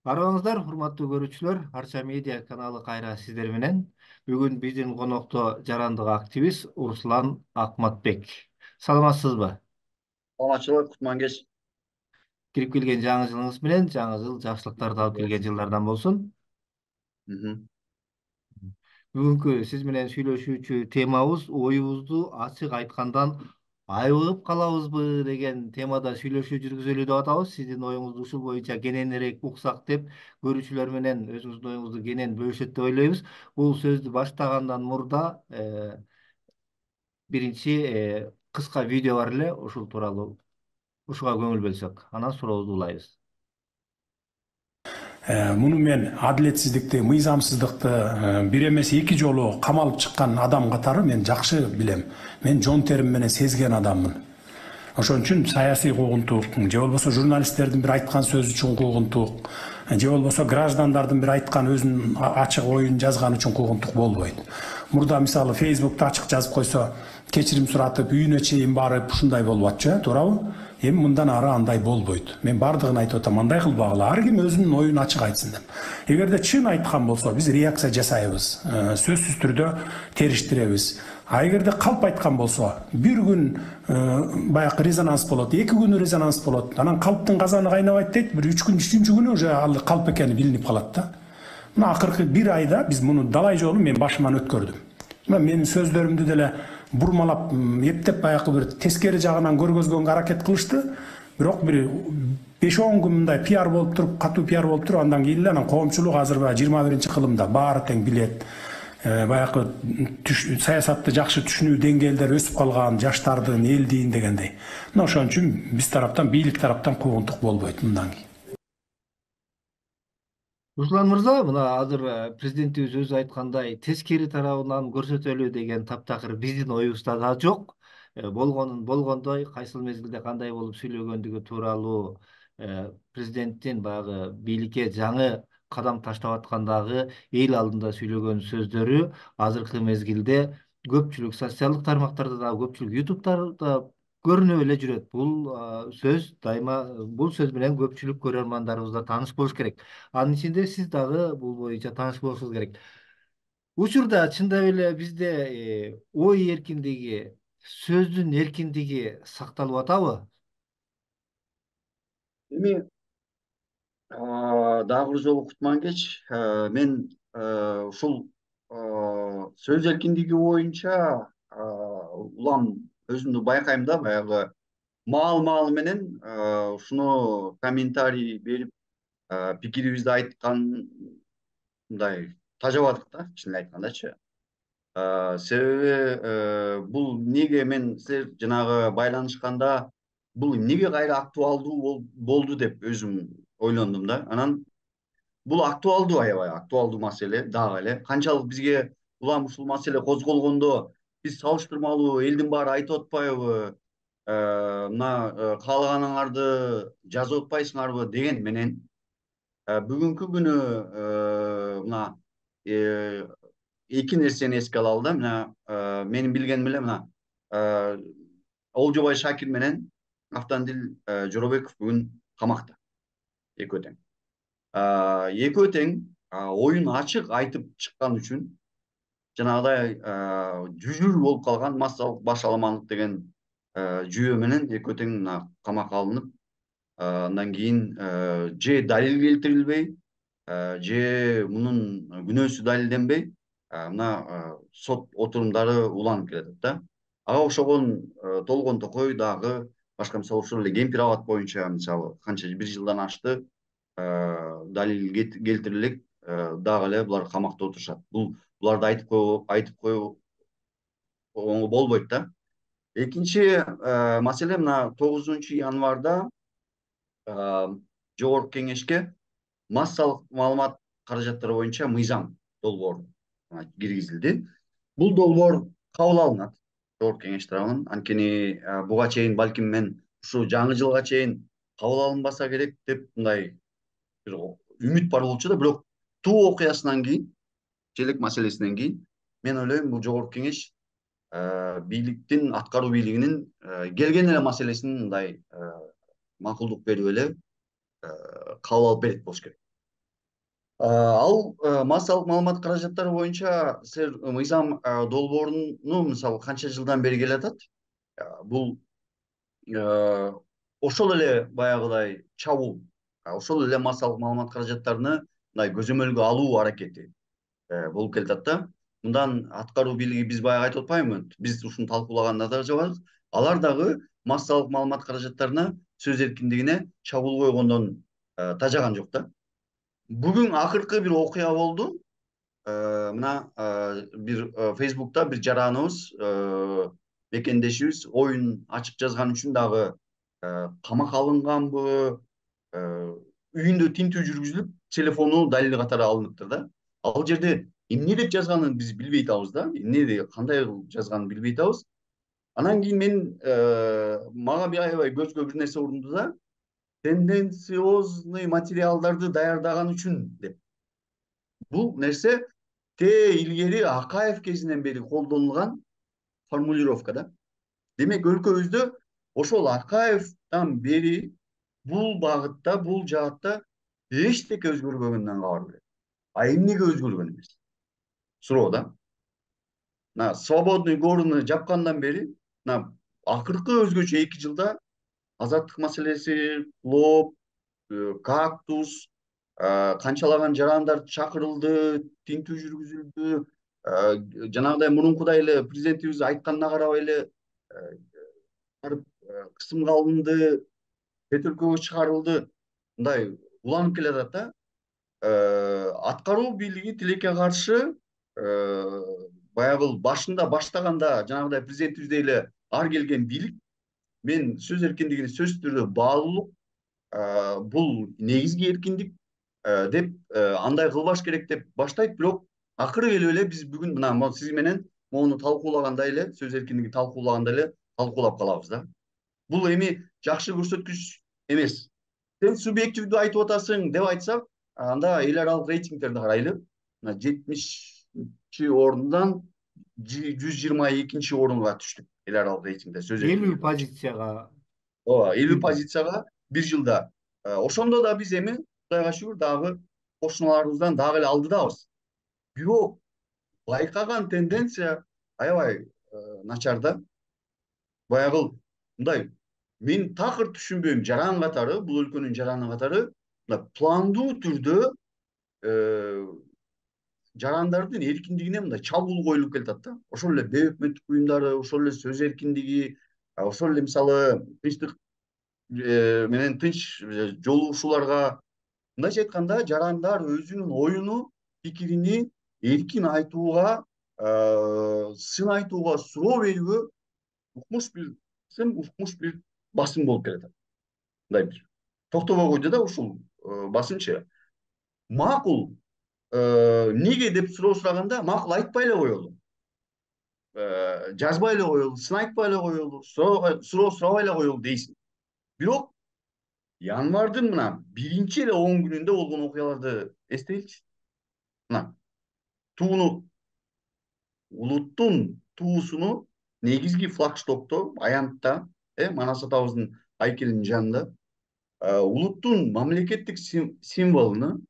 Арабаңыздар, урматтуу көрүүчүлөр, Арча медиа каналы кайра сиздер менен. Бүгүн биздин конокто жарандык активист Руслан Акматбек. Саламатсызбы? Саламатчылык, кутман кеч. Кирип келген жаңы жылыңыз менен жаңы жыл жакшылыктарды алып келген Болсын. жылдардан болсун. Бүгүнкү сиз менен сүйлөшүүчү темабыз оюбузду ачык айткандан айыгып калабызбы деген темада сүйлөшүү жүргүзөлү деп атабыз. Сиздин оюңузду ушул боюнча кененирээк уксак деп көрүүчүлөр менен өзүңүздүн оюңузду кенен бөлүшөт деп ойлойбуз. Бул сөздү баштагандан мурда биринчи кыска видео бар эле, ушул тууралуу ушуга көңүл бөлсөк, анан сурообузду улайбыз. Муну мен адилетсиздикти, мыйзамсыздыкты бир эмес эки жолу камалып чыккан адам катары мен жакшы билем. Мен жон терим менен сезген адаммын. Ошон үчүн саясий куугунтук, же болбосо журналисттердин бир айткан сөзү үчүн куугунтук, же болбосо граждандардын бир айткан өзүнүн ачык оюн жазганы үчүн куугунтук болбойт. Мурда мисалы Facebook'та ачык жазып койсо, кечирим суратып, үйүнө чейин барып ушундай болуп атчу, туурабы? Эми мындан ары андай болбойт. Мен бардыгын айтып атам, андай кылбагыла, ар ким өзүнүн оюн ачык айтсын деп. Эгерде чын айткан болсо, биз реакция жасайбыз, сөзсүз түрдө териштиребиз. А эгерде калп айткан болсо, бир күн баягы резонанс болот, эки күн резонанс болот. Анан калптын казаны кайнабайт дейт, бир 3 күн, 3-үнчү күнү уже ал калп экени билинип калат да. Мына акыркы бир айда биз муну далай жолу мен башыман өткөрдүм. Мына менин сөздөрүмдү деле бурмалап, эптеп баягы бир тескери жагынан көргөзгөнгө аракет кылышты. Бирок бир 5-10 күн мындай пиар болуп туруп, катуу пиар болуп туруп, андан кийин эле анан коомчулук азыр баягы 21-кылымда баары тең билет. Баягы саясатты жакшы түшүнүү деңгээлдери өсүп калган жаштардын, элдин дегендей. Мына ошон үчүн биз тараптан, бийлик тараптан куугунтук болбойт мындан кийин. Руслан мырза, мына азыр президентибиз өзү айткандай тескери тарабынан көрсөтөлү деген таптакыр биздин оюбузда да жок. Болгонун болгондой, кайсыл мезгилде кандай болуп сүйлөгөндүгү тууралуу президенттин баягы бийликке жаңы кадам таштап аткандагы эл алдында сүйлөгөн сөздөрү азыркы мезгилде көпчүлүк социалдык тармактарда да, көпчүлүк ютубтарда көрүнүп эле жүрөт. Бул сөз дайыма бул сөз менен көпчүлүк көрөрмандарыбыз да тааныш болуш керек. Анын ичинде сиз дагы бул боюнча тааныш болушуңуз керек. Учурда чындап эле бизде ой эркиндиги, сөздүн эркиндиги сакталып атабы? Эми дагы бир жолу кутман кеч. Мен ушул сөз эркиндиги боюнча улам өзүмдү байкайм да, баягы маал менен ушуну комментарий берип, пикирибизди айткан мындай тажабадык да, чынын эле айткандачы. Себеби бул эмнеге мен силер жанагы байланышканда бул эмнеге кайра актуалдуу болду деп өзүм ойлондум да. Анан бул актуалдуу, аябай актуалдуу маселе дагы эле. Канчалык бизге улам ушул маселе козголгондо биз салыштырмалуу элдин баары айтып атпайбы, мына каалаганыңарды жазып атпайсыңарбы деген менен бүгүнкү күнү мына эки нерсени эске алалы да. Мына менин билгеним эле мына Олжобай Шакир менен Автандил Жоробеков бүгүн камакта, экөө тең. Экөө тең оюн ачык айтып чыккан үчүн жанагыдай жүжүр болуп калган массалык башаламандык деген жүйө менен экөө тең мына камакка алынып, андан кийин же далил келтирилбей, же мунун күнөөсү далилденбей, мына сот отурумдары уланып келатат да. Ага окшогон толгон токой дагы башка, мисалы ошол эле Кемпир абад боюнча мисалы канча бир жылдан ашты далил келтирилик, дагы эле булар камакта отурушат. Буларды айтып коюу оңой болбойт да. Экинчи маселе мына 9-январда Жогорку Кеңешке массалык маалымат каражаттары боюнча мыйзам долбоору киргизилди. Бул долбоор кабыл алынат Жогорку Кеңеш тарабынан. Анткени буга чейин балким мен ушу жаңы жылга чейин кабыл алынбаса керек деп мындай бир үмүт бар болчу да. Бирок Туу окуясынан кийин, Желек маселесинен кийин мен ойлойм бул Жогорку Кеңеш бийликтин, аткаруу бийлигинин келген эле маселесин мындай макулдук берип эле кабыл алып берет болуш керек. Ал массалык маалымат каражаттары боюнча сэр мыйзам долбооруну мисалы канча жылдан бери келатат. Бул ошол эле баягыдай чабуул, ошол эле массалык маалымат каражаттарыны мындай көзөмөлгө алуу аракети болуп келатат да. Мындан аткаруу бийлиги биз баягы айтып атпаймынбы? Биз ушуну талкуулаганда да жабадык. Алар дагы массалык маалымат каражаттарына, сөз эркиндигине чабуул койгондон тажаган жок да. Бүгүн акыркы бир окуя болду. Мына бир Facebook'та бир жараныбыз, мекендешибиз оюн ачык жазган үчүн дагы камакка алынганбы, үйүндө тинтүү жүргүзүлүп, телефону далил катары алыныптыр да. Ал жерде эмне деп жазганын биз билбей атабыз да. Эмне, кандай жазганын билбей атабыз. Анан кийин мен мага аябай көзгө бир нерсе урунду да. Тенденциозный материалдарды даярдаган үчүн деп. Бул нерсе илгери Акаев кезинен бери колдонулган формулировка да. Демек өлкөбүздө ошол Акаевден бери бул багытта, бул жаатта эчтеке өзгөрбөгөндөн кабар берет. Эмнеге өзгөргөн эмес? Суроо да. Мына свободный горны жапкандан бери, мына акыркы өзгөчө 2 жылда азаттык маселеси, Клоп, Кактус, канчалаган жарандар чакырылды, тинтүү жүргүзүлдү. Жанагыдай мурункудай эле президентибиз айтканына карабай эле барып кысымга алынды, чет өлкөгө чыгарылды. Мындай уланып келатат да. Аткаруу бийлиги тилекке каршы баягы башында баштаганда жанагыдай президентибиздей эле ар келген бийлик мен сөз эркиндигине сөзсүз түрдө баалуулук, бул негизги эркиндик деп андай кылбаш керек деп баштайт. Бирок акыры келип эле биз бүгүн мына сиз менен моуну талкуулагандай эле, сөз эркиндигин талкуулагандай эле талкуулап калабыз да. Бул эми жакшы көрсөткүч эмес. Сен субъективдүү айтып атасың деп айтсак, анда эл аралык рейтингтерди карайлы. Мына 70 орундан 122 орунга түштүк эл аралык рейтингде сөз 50 эркиндиги. позицияга Ооба, 50 кирди. позицияга бир жылда. Ошондо да биз эми Кудайга шүгүр дагы кошуналарыбыздан дагы эле алдыдабыз. Бирок байкаган тенденция аябай начар да. Баягы мындай мен такыр түшүнбөйм, жаран катары, бул өлкөнүн жараны катары мына пландуу түрдө жарандардын эркиндигине мындай чабуул коюлуп келатат да. Ошол эле бейөкмөттүк буюмдары, ошол эле сөз эркиндиги, ошол эле мисалы тынчтык менен тынч жолугушууларга, мындайча айтканда, жарандар өзүнүн оюну, пикирини эркин айтууга, сын айтууга суроо берүүгө укмуш бир басым болуп келатат. Мындай бир токтобой койду да ушул басымчы. Макул эмнеге деп суроо сураганда макул айтпай эле коелу. Жазбай эле коелу, сын айтпай эле коелу, суроо сурабай эле коелу дейсиң. Бирок январдын мына биринчи эле 10 күнүндө болгон окуяларды эстейинчи. Мына тууну, улуттун туусуну негизги флагштокто, аянтта, Манас атабыздын айкелинин жанында улуттун мамлекеттик символуну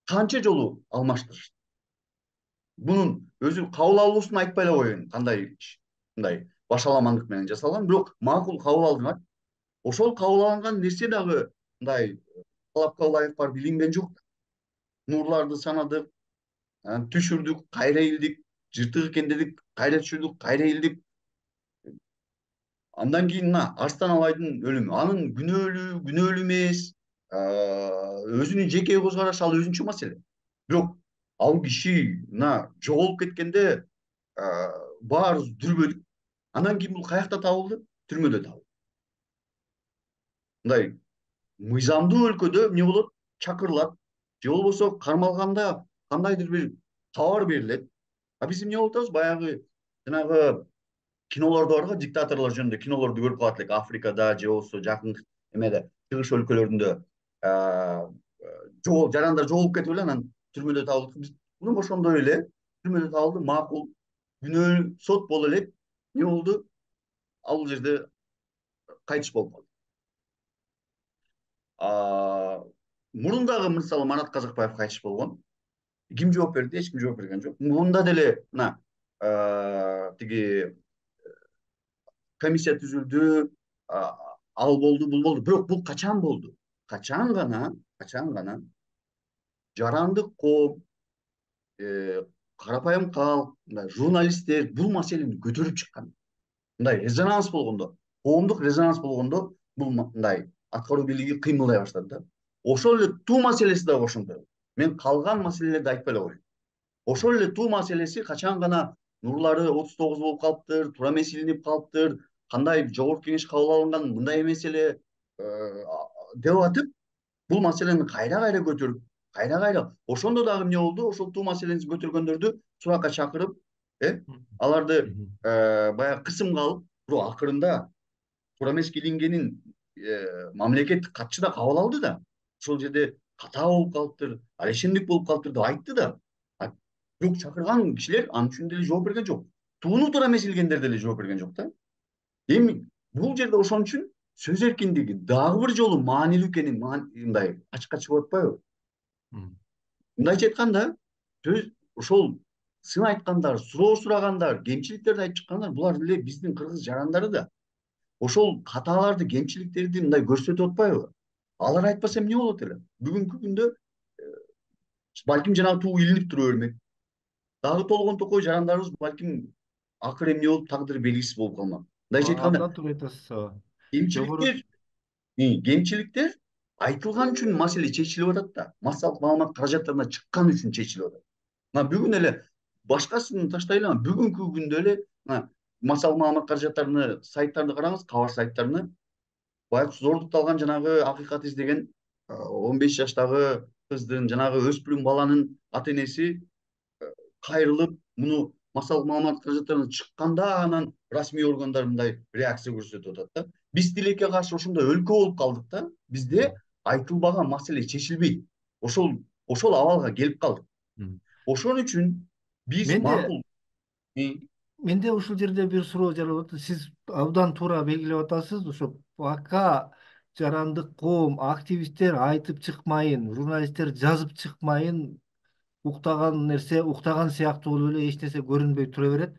канча жолу алмаштырышты. Бунун өзү кабыл алуусун айтпай эле коеюн, кандай мындай башаламандык менен жасалган, бирок макул кабыл алдыңар. Ошол кабыл алынган нерсе дагы мындай талапка ылайык барып илинген жок. Нурларды санадык, түшүрдүк, кайра илдик, жыртык экен дедик, кайра түшүрдүк, кайра илдик. Андан кийин мына Арстан Абайдын өлүмү, анын күнөөлүү эмес, өзүнүн жеке көз карашы, ал өзүнчө маселе. Бирок ал киши мына жоголуп кеткенде баарыбыз дүрбөдүк. Андан кийин бул каякта табылды? Түрмөдө табылды. Мындай мыйзамдуу өлкөдө эмне болот? Чакырылат, же болбосо кармалганда кандайдыр бир кабар берилет. Биз эмне болуп атабыз? Баягы жанагы кинолордо барго, диктаторлор жөнүндө кинолорду көрүп калат элек. Африкада же болбосо жакын эмеде, чыгыш өлкөлөрүндө жарандар жоголуп кетип эле анан түрмөдө табылды. Биз муну ошондой эле түрмөдө табылды, макул күнөөлүү сот боло элек. Эмне болду? Ал жерде кайтыш болуп калды. мурун дагы мисалы Марат Казакбаев кайтыш болгон. Ким жооп берди? Эч ким жооп берген жок. Мурунда деле мына тиги комиссия түзүлдү, ал болду, бул болду. Бирок бул качан болду? Качан гана жарандык коом, карапайым калк, мындай журналисттер бул маселени көтөрүп чыккан. Мындай резонанс болгондо, коомдук резонанс болгондо бул мындай аткаруу бийлиги кыймылдай баштады да. Ошол эле туу маселеси дагы ошондо. Мен калган маселелерди айтпай эле коеюн. Ошол эле туу маселеси качан гана нурлары 39 болуп калыптыр, туура эмес илинип калыптыр, кандай жогорку кеңеш кабыл алынган мындай эмес эле деп атып, бул маселени кайра көтөрүп, кайра ошондо дагы эмне болду? Ошол туу маселени көтөргөндөрдү суракка чакырып, аларды баягы кысымга алып, бирок акырында туура эмес илингенин мамлекеттик катчы да кабыл алды да. Ошол жерде катаа болуп калыптыр, алешендик болуп калыптыр деп айтты да. Бирок чакырган кишилер ал үчүн деле жооп берген жок. Тууну туура эмес илгендер деле жооп берген жок да. Эми бул жерде ошон үчүн сөз эркиндиги дагы бир жолу маанилүү экенин мындай ачыкка чыгып атпайбы? Мындайча айтканда, сөз ошол сын айткандар, суроо сурагандар, кемчиликтерди айтып чыккандар, булар эле биздин кыргыз жарандары да. Ошол катааларды, кемчиликтерди мындай көрсөтүп атпайбы? Алар айтпаса эмне болот эле? Бүгүнкү күндө балким жанагы туу илинип тура бермек. Дагы толгон токой жарандарыбыз балким акыры эмне болуп, тагдыры белгисиз болуп калмак. Мындайча айтканда, Абдан туура айтасыз. Жогору кемчиликтер айтылган үчүн маселе чечилип атат да. Массалык маалымат каражаттарына чыккан үчүн чечилип атат. Мына бүгүн эле башкасын таштайлы, бүгүнкү күндө эле массалык маалымат каражаттарыны сайттарды караңыз, кабар сайттарыны. Баягы зордукталган жанагы акыйкат издеген 15 жаштагы кыздын, жанагы өспүрүм баланын ата-энеси кайрылып, муну массалык маалымат каражаттарына чыкканда анан расмий органдар мындай реакция көрсөтүп атат да. Биз тилекке каршы ошондой өлкө болуп калдык да. Бизде айтылбаган маселе чечилбейт. Ошол абалга келип калдык. Ошон үчүн биз макул. Менде ушул жерде бир суроо жаралып атат. Сиз абдан туура белгилеп атасыз. Ошо пока жарандык коом, активисттер айтып чыкмайын, журналисттер жазып чыкмайын, уктаган нерсе уктаган сыяктуу болуп эле эч нерсе көрүнбөй тура берет.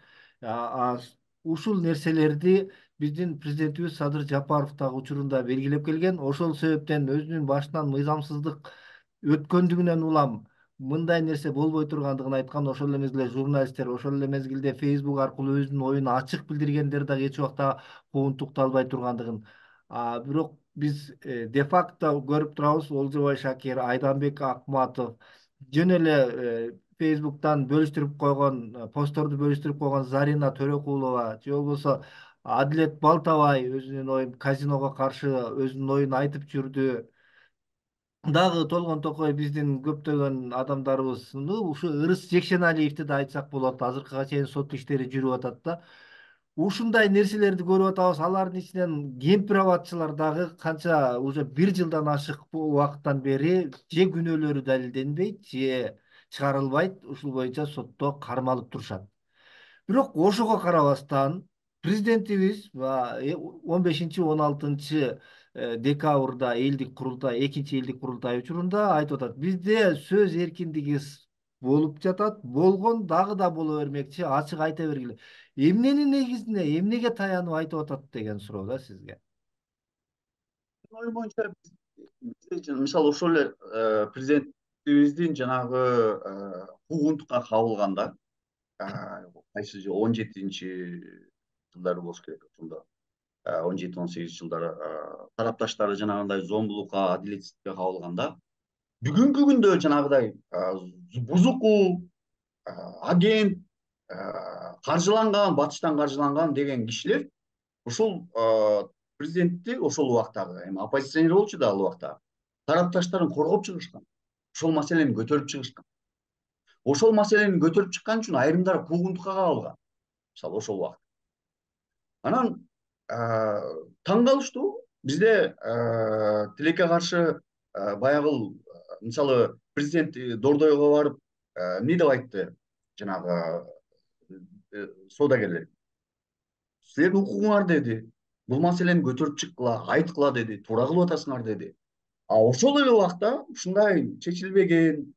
Ушул нерселерди биздин президентибиз Садыр Жапаров дагы учурунда белгилеп келген. Ошол себептен өзүнүн башынан мыйзамсыздык өткөндүгүнөн улам мындай нерсе болбой тургандыгын айткан. Ошол эле мезгилде журналисттер, ошол эле мезгилде Facebook аркылуу өзүнүн оюн ачык билдиргендер дагы эч убакта куугунтукталбай тургандыгын. Бирок биз де-факто көрүп турабыз. Олжобай Шакир, Айданбек Акматов, жөн эле Facebook'тан бөлүштүрүп койгон, постторду бөлүштүрүп койгон Зарина Төрөкулова же болбосо Адилет Балтабай өзүнүн оюн казиного каршы өзүнүн оюн айтып жүрдү. Дагы толгон токой биздин көптөгөн адамдарыбыз, ушу Ырыс Жекшеналиевди да айтсак болот. Азыркыга чейин сот иштери жүрүп атат да. Ушундай нерселерди көрүп атабыз. Алардын ичинен кемпир абадчылар дагы канча уже 1 жылдан ашык убакыттан бери же күнөөлөрү далилденбейт, же чыгарылбайт. Ушул боюнча сотто кармалып турушат. Бирок ошого карабастан президентибиз 15-16 декабрда элдик курултай, экинчи элдик курултай учурунда айтып атат. Бизде сөз эркиндиги болуп жатат, болгон, дагы да боло бермекчи, ачык айта бергиле. Эмненин негизинде, эмнеге таянып айтып атат деген суроо да сизге. Оюм боюнча мисалы ошол эле президентибиздин жанагы куугунтукка кабылганда кайсы 17-жылдары болуш керек ошондо. 17-18 жылдары тарапташтары жанагындай зомбулукка, адилетсиздикке кабылганда, бүгүнкү күндө жанагыдай бузуку, агент, каржыланган, батыштан каржыланган деген кишилер ушул президентти ошол убактагы, эми оппозиционер болчу да ал убакта, тарапташтарын коргоп чыгышкан. Ошол маселени көтөрүп чыгышкан. Ошол маселени көтөрүп чыккан үчүн айрымдары куугунтукка кабылган. Мисалы ошол убакта. Анан таң калыштуу, бизде тилекке каршы баягы мисалы президент Дордойго барып эмне деп айтты жанагы соодагерлер. Силердин укугуңар деди. Бул маселени көтөрүп чыккыла, айткыла деди, туура кылып атасыңар деди. ошол эле убакта ушундай чечилбеген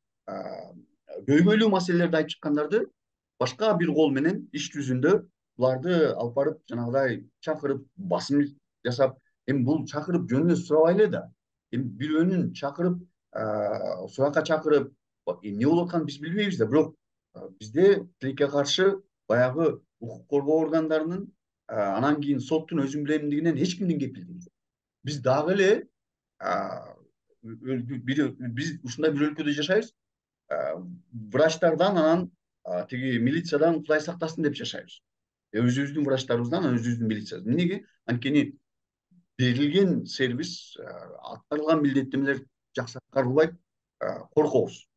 көйгөйлүү маселелерди айтып чыккандарды башка бир кол менен иш жүзүндө буларды алып барып жанагыдай чакырып басым жасап, эми бул чакырып жөн эле сурабай эле да, эми бирөөнүн чакырып суракка чакырып эмне болуп атканын биз билбейбиз да, бирок бизде тилекке каршы баягы укук коргоо органдарынын анан кийин соттун өзүм билемдигинен эч кимдин кепилдиги жок. Биз дагы эле биз ушундай бир өлкөдө жашайбыз. Врачтардан анан тиги милициядан Кудай сактасын деп жашайбыз. Өзүбүздүн врачтарыбыздан, өзүбүздүн милициябыздан. Эмнеге? Анткени берилген сервис, аткарылган милдеттенмелер жакшы аткарылбайт, коркобуз.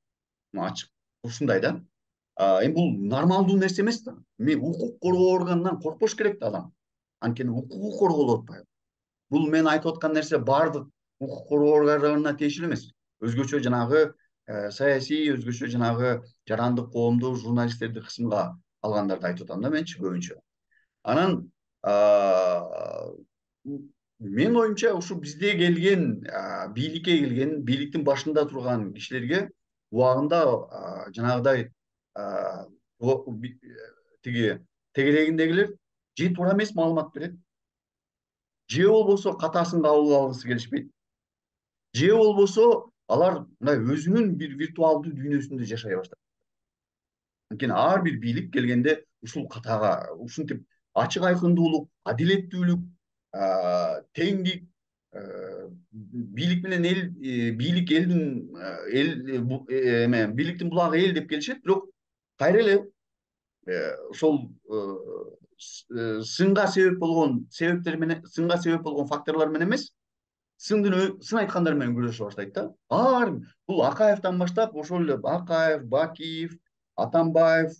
Ачык ушундай да. Эми бул нормалдуу нерсе эмес да. Мен укук коргоо органынан коркпош керек да адам. Анткени укугу корголуп атпайбы? Бул мен айтып аткан нерсе баардык укук коргоо органдарына тиешелүү эмес. Өзгөчө жанагы саясий, өзгөчө жанагы жарандык коомду, журналисттерди кысымга алгандарды айтып атам да менчи көбүнчө. Анан менин оюмча ушу бизде келген, бийликке келген, бийликтин башында турган кишилерге убагында жанагыдай тиги тегерегиндегилер же туура эмес маалымат берет, же болбосо катасын кабыл алгысы келишпейт, же болбосо алар мындай өзүнүн бир виртуалдуу дүйнөсүндө жашай баштайт. Анткени ар бир бийлик келгенде ушул катага, ушинтип ачык айкындуулук, адилеттүүлүк, теңдик, бийлик менен эл, бийлик элдин бийликтин булагы эл деп келишет, бирок кайра эле ошол сынга себеп болгон себептер менен, сынга себеп болгон факторлор менен эмес, сын айткандар менен күрөшө баштайт да. Бул Акаевден баштап ошол эле Акаев, Бакиев, Атамбаев,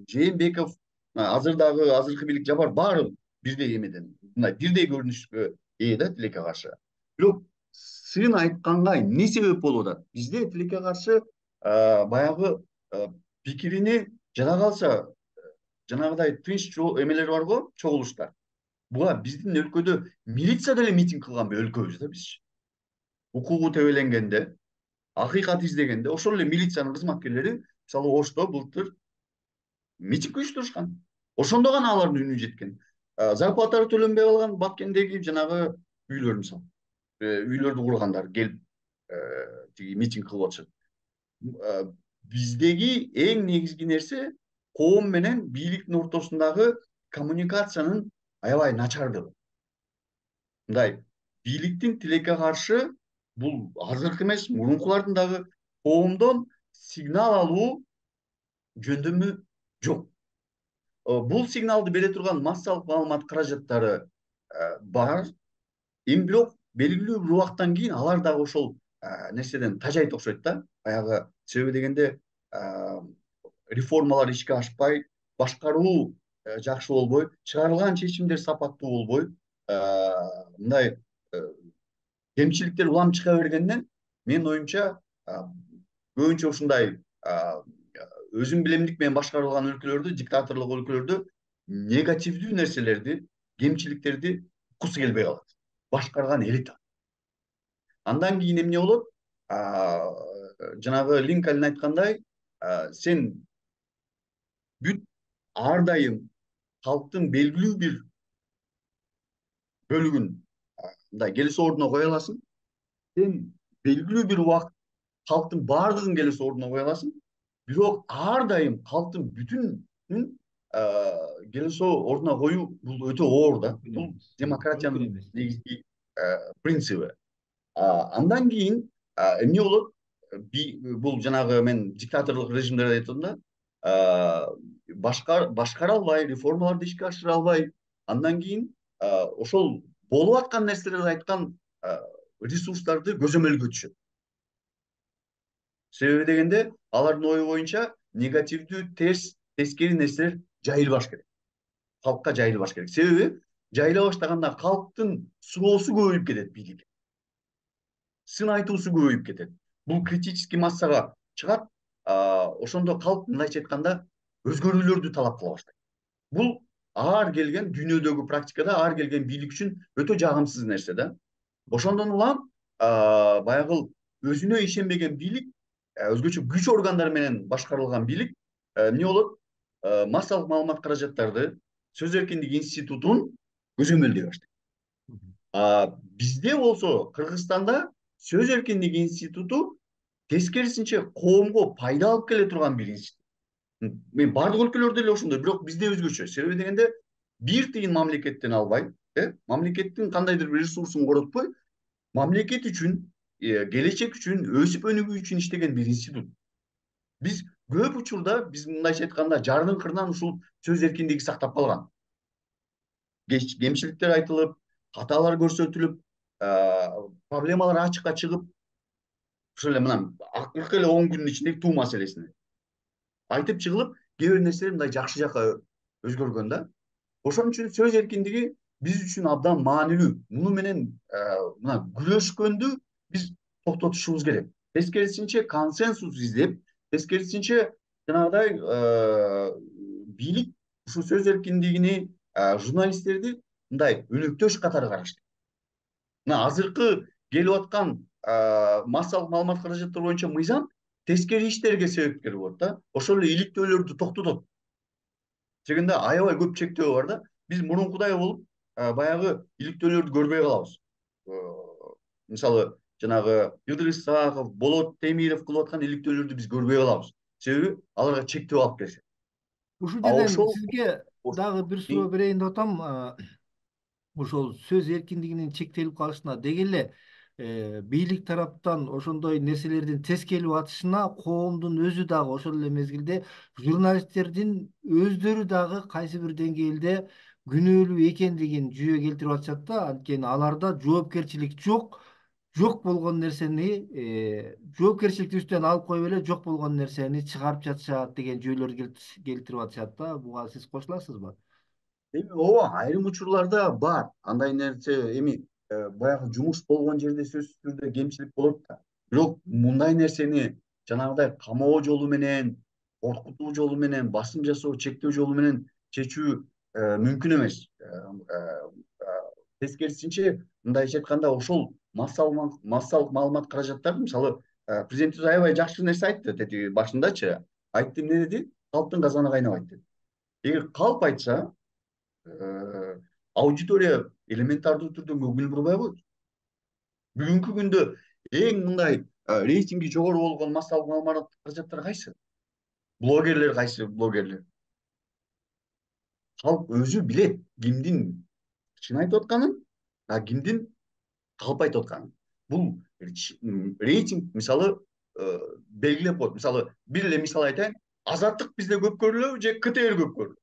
Жээнбеков, азыркы бийлик Жапар баары бирдей эмеден, мындай бирдей көрүнүшкө ээ да тилекке каршы. Бирок сын айтканга эмне себеп болуп атат? Бизде тилекке каршы баягы пикирини жада калса жанагыдай тынч эмелер бар го, чогулуштар. Буга биздин өлкөдө милиция деле митинг кылганбы? Өлкөбүз да биз. Укугу тебеленгенде, акыйкат издегенде ошол эле милициянын кызматкерлери мисалы Ошто былтыр митинг уюштурушкан. Ошондо гана алардын үнү жеткен. Зарплаталары төлөнбөй калган Баткендеги жанагы үйлөр мисалы. Үйлөрдү кургандар келип тиги митинг кылып атышат. Биздеги эң негизги нерсе коом менен бийликтин ортосундагы коммуникациянын аябай начардыгы. Мындай бийликтин тилекке каршы бул азыркы эмес, мурункулардын дагы коомдон сигнал алуу жөндөмү жок. Бул сигналды бере турган массалык маалымат каражаттары бар. Эми бирок белгилүү бир убакыттан кийин алар дагы ошол нерседен тажайт окшойт да. Баягы себеби дегенде реформалар ишке ашпай, башкаруу жакшы болбой, чыгарылган чечимдер сапаттуу болбой, мындай кемчиликтер улам чыга бергенден менин оюмча көбүнчө ушундай өзүм билемдик менен башкарылган өлкөлөрдө, диктаторлук өлкөлөрдө негативдүү нерселерди, кемчиликтерди уккусу келбей калат. Башкарган элита. Андан кийин эмне болот? Жанагы Линкольн айткандай, сен бүт ар дайым калктын белгилүү бир бөлүгүн мындай келес ордуна кое аласың. Сен белгилүү бир убакыт калктын баардыгын келес ордуна кое аласың. Бирок ар дайым калктын бүтүнүн келес ордуна коюу бул өтө оор да. Бул демократиянын негизги принциби. Андан кийин эмне болот? Бул жанагы мен диктаторлук режимдерди айтып атам да. Башкара албай, реформаларды ишке ашыра албай, андан кийин ошол болуп аткан нерселерди айткан ресурстарды көзөмөлгө түшөт. Себеби дегенде алардын ою боюнча негативдүү, тескери нерселер жайылбаш керек. Калкка жайылбаш керек. Себеби жайыла баштаганда калктын суроосу көбөйүп кетет бийликке. Сын айтуусу көбөйүп кетет. Бул критический массага чыгат, ошондо калк мындайча айтканда өзгөрүүлөрдү талап кыла баштайт. Бул ар келген дүйнөдөгү практикада ар келген бийлик үчүн өтө жагымсыз нерсе да. Ошондон улам баягы өзүнө ишенбеген бийлик, өзгөчө күч органдары менен башкарылган бийлик эмне болот? Массалык маалымат каражаттарды сөз эркиндиги институтун көзөмөлдөй баштайт. Бизде болсо Кыргызстанда сөз эркиндиги институту тескерисинче коомго пайда алып келе турган бир институт. Мен бардык өлкөлөрдө эле ошондой, бирок бизде өзгөчө. Себеби дегенде бир тыйын мамлекеттен албай, мамлекеттин кандайдыр бир ресурсун коротпой, мамлекет үчүн, келечек үчүн, өсүп өнүгүү үчүн иштеген бир институт. Биз көп учурда, биз мындайча айтканда, жардын кырынан ушул сөз эркиндиги сактап калган. Кемчиликтер айтылып, каталар көрсөтүлүп, проблемалар ачыкка чыгып, ошол эле мына акыркы эле 10 күндүн ичинде туу маселесине айтып чыгылып, кээ бир нерселер мындай жакшы жакка өзгөргөн да. Ошон үчүн сөз эркиндиги биз үчүн абдан маанилүү. Муну менен мына күрөшкөндү биз токтотушубуз керек. Тескерисинче консенсус издеп, тескерисинче жанагыдай бийлик ушул сөз эркиндигини, журналисттерди мындай өнөктөш катары караштайт. Мына азыркы келип аткан массалык маалымат каражаттары боюнча мыйзам тескери иштерге себепкер болот да. Ошол эле иликтөөлөрдү токтотот. Дегенде аябай көп чектөө бар да. Биз мурункудай болуп, баягы иликтөөлөрдү көрбөй калабыз. Мисалы, жанагы Йылдырым Исаков, Болот Темиров кылып аткан иликтөөлөрдү биз көрбөй калабыз. Себеби аларга чектөө алып келишет. Ушул жерден Ошол сизге дагы бир суроо берейин деп атам. Ошол сөз эркиндигинин чектелип калышына деги эле бийлик тараптан ошондой нерселердин тез келип атышына коомдун өзү дагы ошол эле мезгилде журналисттердин өздөрү дагы кайсы бир деңгээлде күнөөлүү экендигин жүйө келтирип атышат да. Анткени аларда жоопкерчилик жок болгон нерсени жоопкерчиликти үстүнөн алып коюп эле жок болгон нерсени чыгарып жатышат деген жүйөлөрдү келтирип атышат да. Буга сиз кошуласызбы? ооба, айрым учурларда бар. Андай нерсе эми баягы жумуш болгон жерде сөзсүз түрдө кемчилик болот да. Бирок мындай нерсени жанагыдай камоо жолу менен, коркутуу жолу менен, басым жасоо, чектөө жолу менен чечүү мүмкүн эмес. Тескерисинче, мындайча айтканда, ошол массалык маалымат каражаттары, мисалы, президентибиз аябай жакшы нерсе айтты тетиги башындачы. Айтты, эмне деди? Калптын казаны кайнабайт деди. Эгер калп айтса, аудитория элементардуу түрдө көңүл бурбай коет. Бүгүнкү күндө эң мындай рейтинги жогору болгон массалык маалымат каражаттары кайсы? Блогерлер кайсы блогерлер? Калп өзү билет кимдин чын айтып атканын, кимдин калп айтып атканын. Бул рейтинг, мисалы, белгилеп коет. Мисалы, бир эле мисал айтайын. Азаттык бизде көп көрүлөбү же КТР көп көрүлөбү?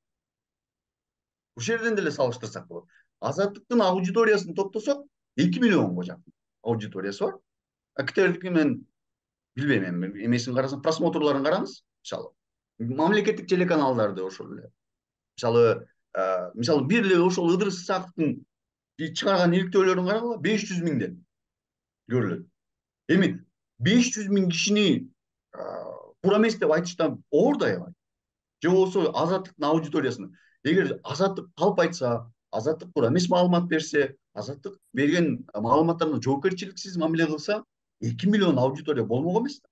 Ушул жерден деле салыштырсак болот. Азаттыктын аудиториясын топтосок, 2 миллионго жакын аудиториясы бар. КТРдики мен билбейм, эми эмесин карасам, просмотрларын караңыз, мисалы. Мамлекеттик телеканалдарды ошол эле. Мисалы, бир эле ошол Ыдырыс Исаковдун чыгарган иликтөөлөрүн карагыла, 500 миңден көрүлөт. Эми 500 миң кишини туура эмес деп айтыштан оор да аябай. Же болбосо Азаттыктын аудиториясына. Эгер Азаттык калп айтса, Азаттык туура эмес маалымат берсе, Азаттык берген маалыматтарына жоопкерчиликсиз мамиле кылса, 2 миллион аудитория болмок эмес да.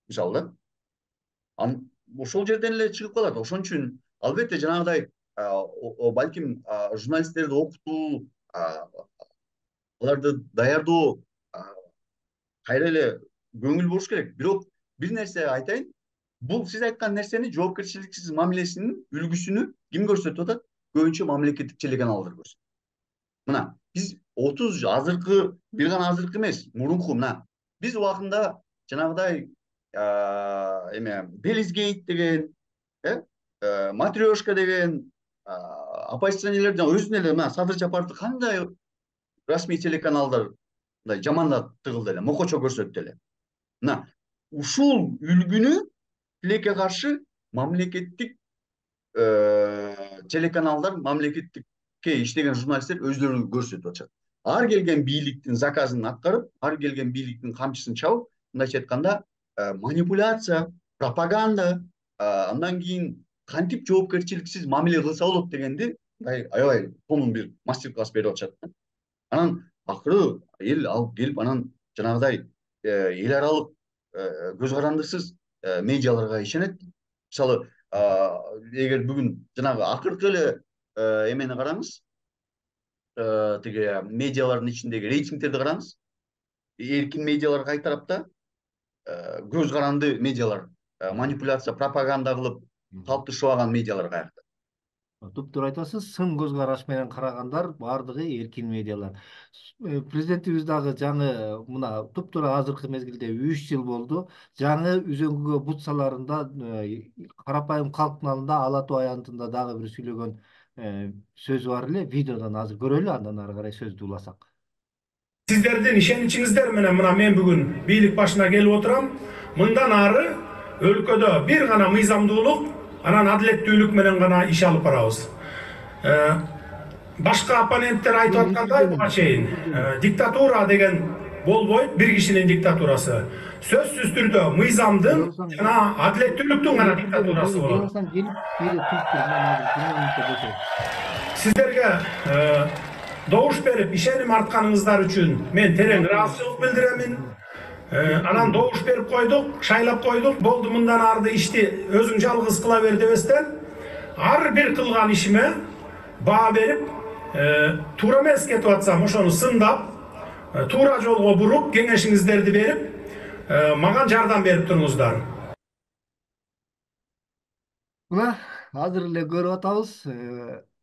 Мисалы да. Ошол жерден эле чыгып калат. Ошон үчүн албетте жанагыдай балким журналисттерди окутуу, аларды даярдоо кайра эле көңүл буруш керек. Бирок бир нерсе айтайын. Бул сиз айткан нерсени, жоопкерчиликсиз мамилесинин үлгүсүнү ким көрсөтүп атат? Көбүнчө мамлекеттик телеканалдар көрсөтөт. Мына, биз 30 азыркы, бир гана азыркы эмес, мурунку мына. Биз убагында жанагыдай Белизгейт деген, Матрешка деген, оппозиционерлерден өзүнө эле мына Садыр Жапаровду кандай расмий телеканалдар мындай жамандап тыгылды эле, мокочо көрсөттү эле. Мына, ушул үлгүнү тилекке каршы мамлекеттик телеканалдар, мамлекеттикке иштеген журналисттер өздөрү көрсөтүп атышат. Ар келген бийликтин заказын аткарып, ар келген бийликтин камчысын чабып, мындайча айтканда, манипуляция, пропаганда, андан кийин кантип жоопкерчиликсиз мамиле кылса болот дегенди аябай тонун бир мастер-класс берип атышат. Анан акыры эл алып келип анан жанагыдай эл аралык көз карандысыз медиаларга ишенет. Мисалы, эгер бүгүн жанагы акыркы эле эмени караңыз, тиги медиалардын ичиндеги рейтингтерди караңыз. Эркин медиалар кай тарапта, көз каранды медиалар, манипуляция, пропаганда кылып калыпташып медиалар каякта. Туптуура айтасыз, сын көз караш менен карагандар баардыгы эркин медиалар. Президентибиз дагы жаңы мына туптуура азыркы мезгилде 3 жыл болду. Жаңы үзөңгүгө бут саларында карапайым калктын алдында ала тоо аянтында дагы бир сүйлөгөн сөзү бар эле. Видеодон азыр көрөлү, андан ары карай сөздү уласак. Сиздердин ишеничиңиздер менен мына мен бүгүн бийлик башына келип отурам. Мындан ары өлкөдө бир гана мыйзамдуулук, анан адилеттүүлүк менен гана иш алып барабыз. Башка оппоненттер айтып аткандай буга чейин диктатура деген болбойт, бир кишинин диктатурасы. Сөзсүз түрдө мыйзамдын жана адилеттүүлүктүн гана диктатурасы болот. Сиздерге добуш берип ишеним артканыңыздар үчүн мен терең ыраазычылык билдиремин. Анан добуш берип койдук, шайлап койдук. Болду, мындан арды ишти өзүң жалгыз кыла бер дебестен, ар бир кылган ишиме баа берип, туура эмес кетип атсам ошону сындап, туура жолго буруп, кеңешиңиздерди берип, мага жардам берип туруңуздар. Мына азыр эле көрүп атабыз,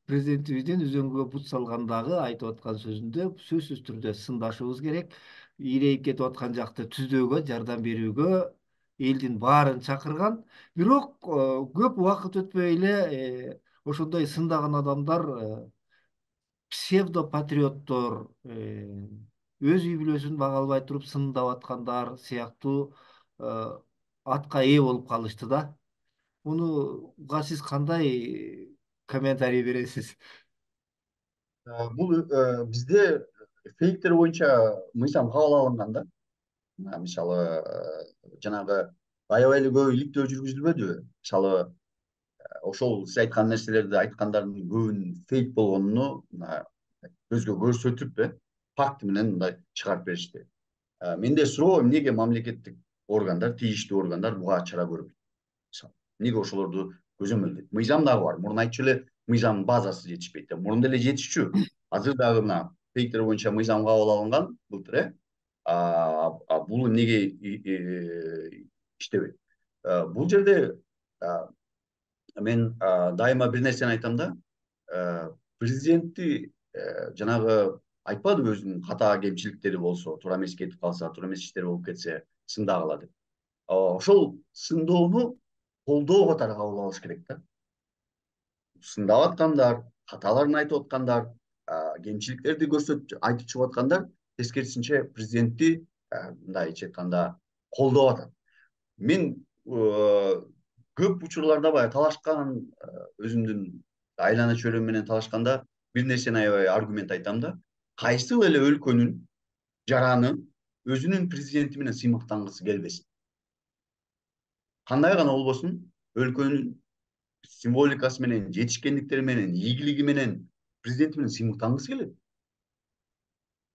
президентибиздин үзөңгүгө бут салгандагы айтып аткан сөзүндө сөзсүз түрдө сындашыбыз керек. Ийрейип кетип аткан жакты түзөөгө, жардам берүүгө элдин баарын чакырган. Бирок көп убакыт өтпөй эле ошондой сындаган адамдар псевдопатриоттор, өз үй бүлөсүн бага албай туруп сындап аткандар сыяктуу атка ээ болуп калышты да. Мунуга сиз кандай комментарий бересиз? Бул бизде фейктер боюнча мыйзам кабыл алынган да. Мисалы, жанагы аябай эле көп иликтөө жүргүзүлбөдүбү? Мисалы, ошол сиз айткан нерселерди айткандардын көбүнүн фейк болгонуну көзгө көрсөтүп, факт менен мындай чыгарып беришти. Менде суроо, эмнеге мамлекеттик органдар, тийиштүү органдар буга чара көрбөйт? Эмнеге ошолорду көзөмөлдөйт? Мыйзам дагы бар. Мурун айтчу эле мыйзамдын базасы жетишпейт. Мурун деле жетишчү. Азыр дагы мына фейктер боюнча мыйзам кабыл алынган былтыр, бул эмнеге иштебейт? Бул жерде мен дайыма бир нерсени айтам да. Президентти жанагы айтпадыбы өзүнүн ката кемчиликтери болсо, туура эмес кетип калса, туура эмес иштер болуп кетсе сындагыла деп. Ошол сындоону колдоо катары кабыл алыш керек да. Сындап аткандар, каталарын айтып аткандар, кемчиликтерди көрсөтүп айтып чыгып аткандар тескерисинче президентти мындайча айтканда колдоп атат. Мен көп учурларда баягы талашкан, өзүмдүн айлана чөйрөм менен талашканда бир нерсени аябай аргумент айтам да. Кайсыл эле өлкөнүн жараны өзүнүн президенти менен сыймыктангысы келбесин. Кандай гана болбосун, өлкөнүн символикасы менен, жетишкендиктери менен, ийгилиги менен президенти менен сыймыктангысы келет.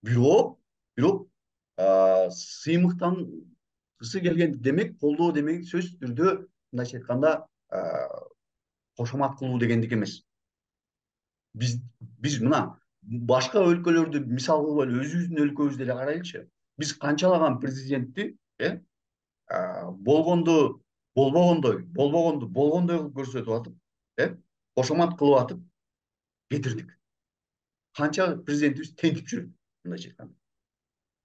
Бирок сыймыктангысы келген демек, колдоо демек сөзсүз түрдө мындайча айтканда кошомат кылуу дегендик эмес. Биз мына башка өлкөлөрдү мисал кылып эле өзүбүздүн өлкөбүздү эле карайлычы. Биз канчалаган президентти болгонду болбогондой кылып көрсөтүп атып, кошомат кылып атып кетирдик. Канча президентибиз тентип жүрөт, мындайча айтканда.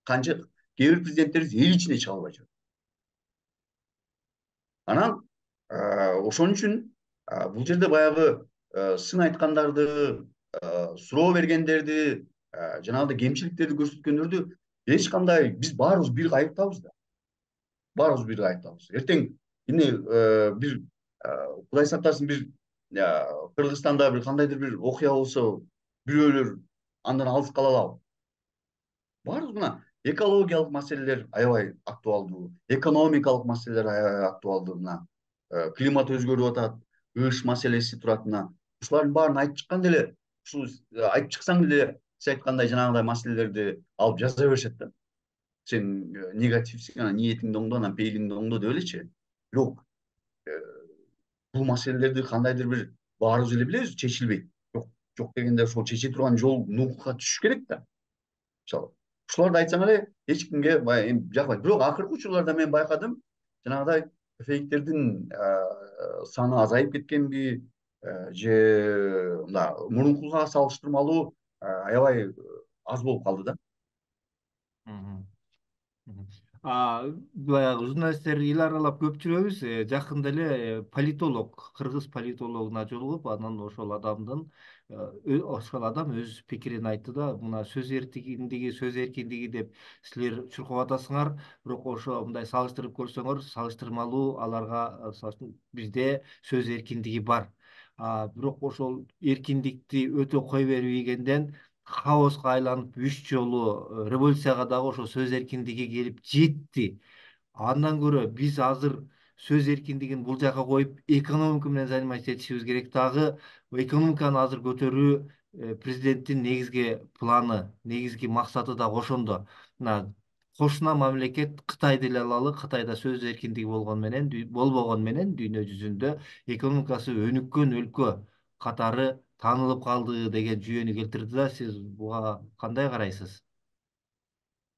Канча кээ бир президенттерибиз эл ичине чыга албай жүрөт. Анан ошон үчүн бул жерде баягы сын айткандарды, суроо бергендерди, жанагындай кемчиликтерди көрсөткөндөрдү эч кандай биз баарыбыз бир айыптабыз да. Баарыбыз бир айыптабыз. Эртең эмне бир Кудай сактасын, бир Кыргызстанда бир кандайдыр бир окуя болсо, бирөөлөр андан алыс кала алабы? Баарыбыз мына экологиялык маселелер аябай актуалдуу, экономикалык маселелер аябай актуалдуу. Мына климат өзгөрүп атат, ыш маселеси турат. Мына ушулардын баарын айтып чыккан деле, ушул айтып чыксаң деле сиз айткандай жанагындай маселелерди алып жаза беришет да. Сен негативсиң, анан ниетиңди оңдо, анан пейилиңди оңдо деп элечи. Бирок бул маселелерди кандайдыр бир баарыбыз эле билебиз, чечилбейт. Жок дегенде ошол чече турган жол нукукка түшүш керек да. Мисалы, ушуларды айтсаң эле эч кимге баягы жакпайт. Бирок акыркы учурларда мен байкадым, жанагыдай фейктердин саны азайып кеткенби, же мындай мурункуга салыштырмалуу аябай аз болуп калды да. Баягы журналисттер эл аралап көп жүрөбүз. Жакында эле политолог, кыргыз политологуна жолугуп, анан ошол адам өз пикирин айтты да, мына сөз эркиндиги деп силер чуркап атасыңар, бирок ошо мындай салыштырып көрсөңөр, салыштырмалуу аларга бизде сөз эркиндиги бар. Бирок ошол эркиндикти өтө кой бербегенден хаоска айланып 3 жолу революцияга дагы ошо сөз эркиндиги келип жетти. Андан көрө биз азыр сөз эркиндигин бул жака коюп экономика менен заниматься этишибиз керек. Дагы экономиканы азыр көтөрүү президенттин негизги планы, негизги максаты да ошондо. Мына кошуна мамлекет Кытайды эле алалы. Кытайда сөз эркиндиги болбогон менен дүйнө жүзүндө экономикасы өнүккөн өлкө катары таанылып калды деген жүйөнү келтирди да. Сиз буга кандай карайсыз?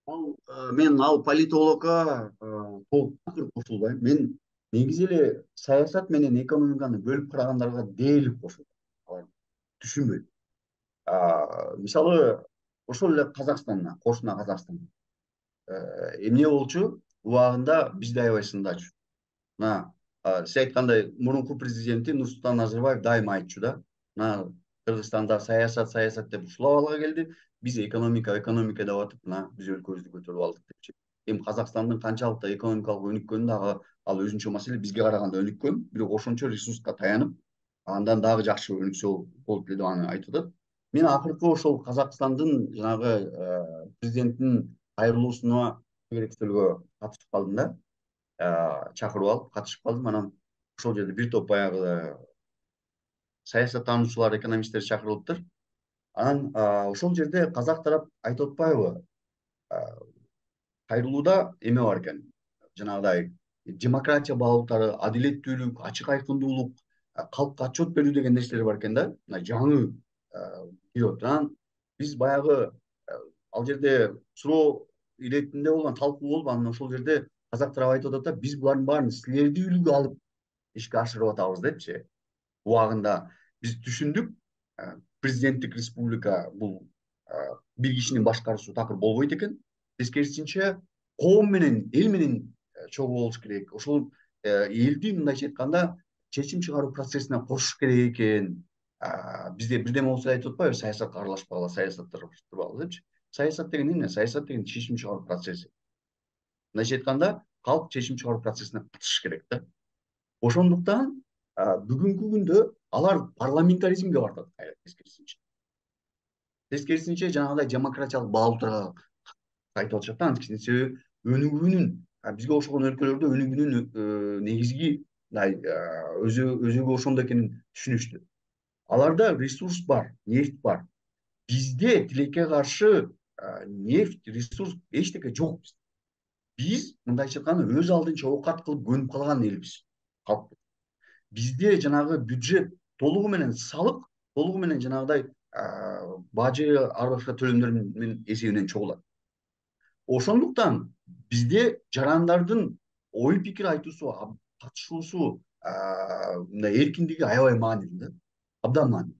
Мен ал политологко толук кошулбайм. Мен негизи эле саясат менен экономиканы бөлүп карагандарга дээрлик кошулам. Алар түшүнбөйт. Мисалы, ошол эле Казакстанда, кошуна Казакстан эмне болчу? Убагында бизди аябай сындачу. Мына сиз айткандай мурунку президенти Нурсултан Назарбаев дайыма айтчу да. Мына Кыргызстанда саясат деп ушул абалга келди. Биз экономика деп атып, мына биз өлкөбүздү көтөрүп алдык депчи. Эми Казакстандын канчалык экономикалык өнүккөнү дагы ал өзүнчө маселе. Бизге караганда өнүккөн, бирок ошончо ресурска таянып, андан дагы жакшы өнүксө болот деп аны айтып атат. Мен акыркы ошол Казакстандын жанагы президенттин кайрылуусуна керектөлгө катышып калдым да. Чакырып алып катышып калдым. Анан ошол жерде бир топ баягы саясаттануучулар, экономисттер чакырылыптыр. Анан ошол жерде казак тарап айтып атпайбы? Кайрылууда эме бар экен. Жанагыдай демократия баалуулуктары, адилеттүүлүк, ачык айкындуулук, калкка отчет берүү деген нерселер бар экен да. Мына жаңы кирип атат. Анан биз баягы ал жерде суроо иретинде болгон, талкуу болуп, анан ошол жерде казак тарап айтып атат да, биз булардын баарын силерди үлгү алып ишке ашырып атабыз депчи. Убагында биз түшүндүк, президенттик республика бул бир кишинин башкаруусу такыр болбойт экен. Тескерисинче коом менен, эл менен чогуу болуш керек. Ошол элди мындайча айтканда чечим чыгаруу процессине кошуш керек экен. Бизде бирдеме болсо айтып атпайбы, саясатка аралашпагыла, саясатташтырбагыла депчи. Саясат деген эмне? Саясат деген чечим чыгаруу процесси. Мындайча айтканда, калк чечим чыгаруу процессине катышыш керек да. Ошондуктан бүгүнкү күндө алар парламентаризмге бардат кайра тескерисинче. Тескерисинче жанагыдай демократиялык баалуулуктарга кайтып атышат да. Анткени себеби өнүгүүнүн, бизге окшогон өлкөлөрдө өнүгүүнүн негизги өзөгү ошондо экенин түшүнүштү. Аларда ресурс бар, нефть бар. Бизде тилекке каршы нефть, ресурс эчтеке жок. Биз мындайча айтканда өз алдынча оокат кылып көнүп калган элбиз. Бизде жанагы бюджет толугу менен салык, толугу менен жанагыдай бажы, ар башка төлөмдөр менен эсебинен чогулат. Ошондуктан бизде жарандардын ой пикир айтуусу, катышуусу, мындай эркиндиги аябай маанилүү да. Абдан маанилүү.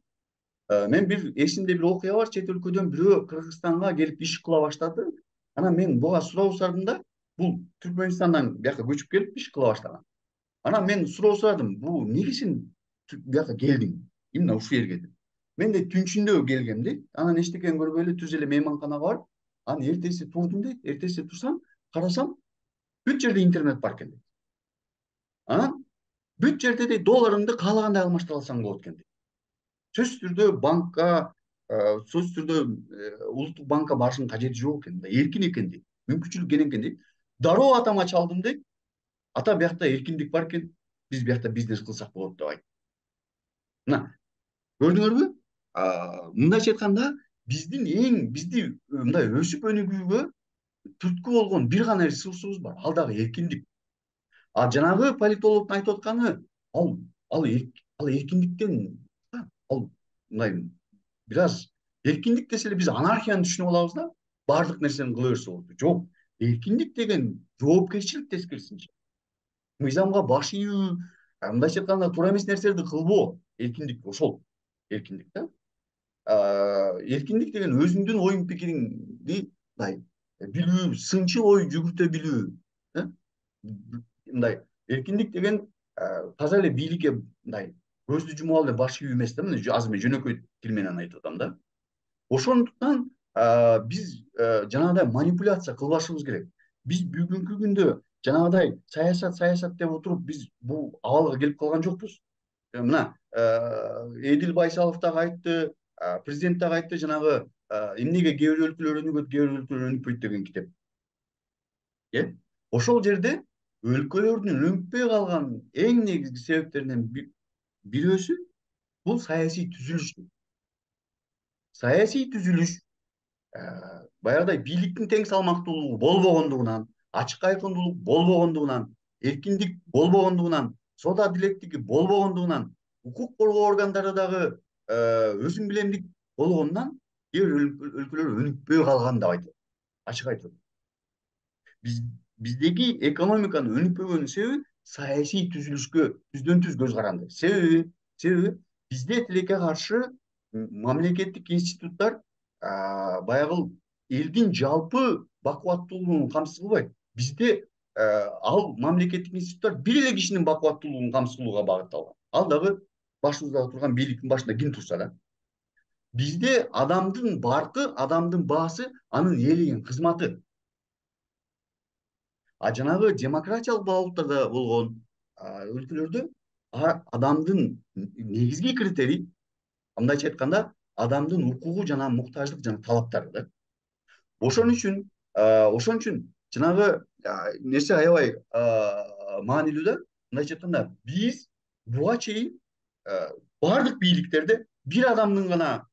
Мен эсимде бир окуя бар, чет өлкөдөн бирөө Кыргызстанга келип иш кыла баштады. Анан мен буга суроо сурадым да, бул Түркмөнстандан бияка көчүп келип иш кыла баштаган. Анан мен суроо сурадым, бул неге сен бияка келдиң? Именно ушул жерге деп. Мен де түнчүндө келгем дейт. Анан эчтекени көрбөй эле түз эле мейманканага барып, анан эртеси турдум дейт. Эртеси турсам, карасам, бүт жерде интернет бар экен дейт. Анан бүт жерде дейт долларыңды каалагандай алмаштыра алсаң болот экен дейт. Сөзсүз түрдө банкка, сөзсүз түрдө улуттук банкка барышыңдын кажети жок экен, эркин экен дейт. Мүмкүнчүлүк кene экен дейт. Дароо атама чалдым дейт. Ата биякта эркиндик бар экен, биз биякта бизнес кылсак болот деп айтты. Мына, көрдүңөрбү? Мындайча айтканда, бизди мындай өсүп өнүгүүгө түрткү болгон бир гана ресурсубуз бар, ал дагы эркиндик. А жанагы политологдун айтып атканы ал эркиндиктен ал мындай бир аз эркиндик десе эле биз анархияны түшүнүп алабыз да, баардык нерсени кыла берсе болот. Жок, эркиндик деген жоопкерчилик тескерисинче. Мыйзамга баш ийүү, мындайча айтканда туура эмес нерселерди кылбоо, эркиндик ошол. Эркиндик да. Эркиндик деген өзүңдүн оюң пикириңди мындай билүү, сынчыл ой жүгүртө билүү. Мындай эркиндик деген таза эле бийликке мындай көздү жумуп алып эле баш ийүү эмес да, мына азыр мен жөнөкөй тил менен айтып атам да. Ошондуктан биз жанагыдай манипуляция кылбашыбыз керек. Биз бүгүнкү күндө жанагыдай саясат деп отуруп биз бул абалга келип калган жокпуз. Мына Эдил Байсалов дагы айтты, президент дагы айтты, жанагы эмнеге кээ бир өлкөлөр өнүгөт, кээ бир өлкөлөр өнүкпөйт деген китеп. Ошол жерде өлкөлөрдүн өнүкпөй калган эң негизги себептеринен бирөөсү бул саясий түзүлүш. Саясий түзүлүш баягыдай бийликтин тең салмактуулугу болбогондугунан, ачык айкындуулук болбогондугунан, эркиндик болбогондугунан, сот адилеттиги болбогондугунан, укук коргоо органдары дагы өзүң билемдик болгондугунан кээ бир өлкөлөр өнүкпөй калган деп айтат. Ачык айтып. Биздеги экономиканын өнүкпөгөнүнүн себеби саясий түзүлүшкө түздөн түз көз каранды. Себеби бизде тилекке каршы мамлекеттик институттар баягы элдин жалпы бакубаттуулугун камсыз кылбайт. Бизде ал мамлекеттик институттар бир эле кишинин бакубаттуулугун камсыз кылууга багытталган. Ал дагы башыбызда турган бийликтин башында ким турса да. Бизде адамдын баркы, адамдын баасы анын ээлеген кызматы. А жанагы демократиялык багыттарда болгон өлкөлөрдө адамдын негизги критерий, мындайча айтканда, адамдын укугу жана муктаждык жана талаптары да. Ошон үчүн жанагы нерсе аябай маанилүү да. Мындайча айтканда, биз буга чейин баардык бийликтерде бир адамдын гана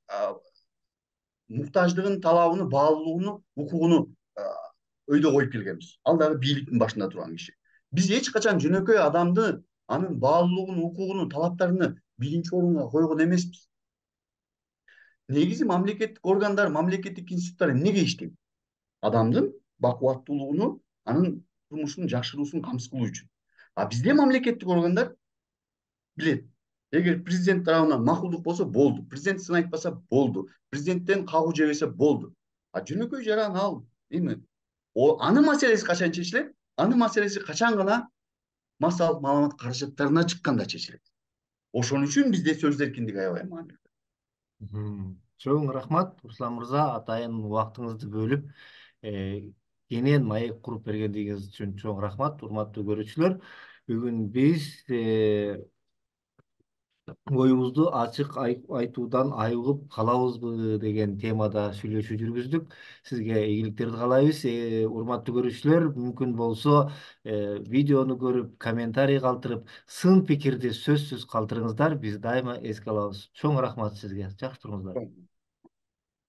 муктаждыгын, талабын, баалуулугун, укугуну өйдө коюп келгенбиз. Ал дагы бийликтин башында турган киши. Биз эч качан жөнөкөй адамды, анын баалуулугун, укугун, талаптарын биринчи орунга койгон эмеспиз. Негизи мамлекеттик органдар, мамлекеттик институттар эмнеге иштейт? Адамдын бакубаттуулугуну, анын турмушун жакшыруусун камсыз кылуу үчүн. А бизде мамлекеттик органдар билет. Эгер президент тарабынан макулдук болсо болду. Президент сын айтпаса болду. Президенттен кагуу жебесе болду. А жөнөкөй жаран ал эми анын маселеси качан чечилет? Анын маселеси качан гана массалык маалымат каражаттарына чыкканда чечилет. Ошон үчүн бизде сөз эркиндиги аябай маанилүү. Чоң рахмат, Руслан мырза, атайын убактыңызды бөлүп, кенен маек куруп бергендигиңиз үчүн чоң рахмат. Урматтуу көрүүчүлөр, бүгүн биз оюбузду ачык айтуудан айыгып калабызбы деген темада сүйлөшүү жүргүздүк. Сизге ийгиликтерди каалайбыз. Урматтуу көрүүчүлөр, мүмкүн болсо видеону көрүп, комментарий калтырып, сын пикирди сөзсүз калтырыңыздар. Биз дайыма эске алабыз. Чоң рахмат сизге. Жакшы туруңуздар.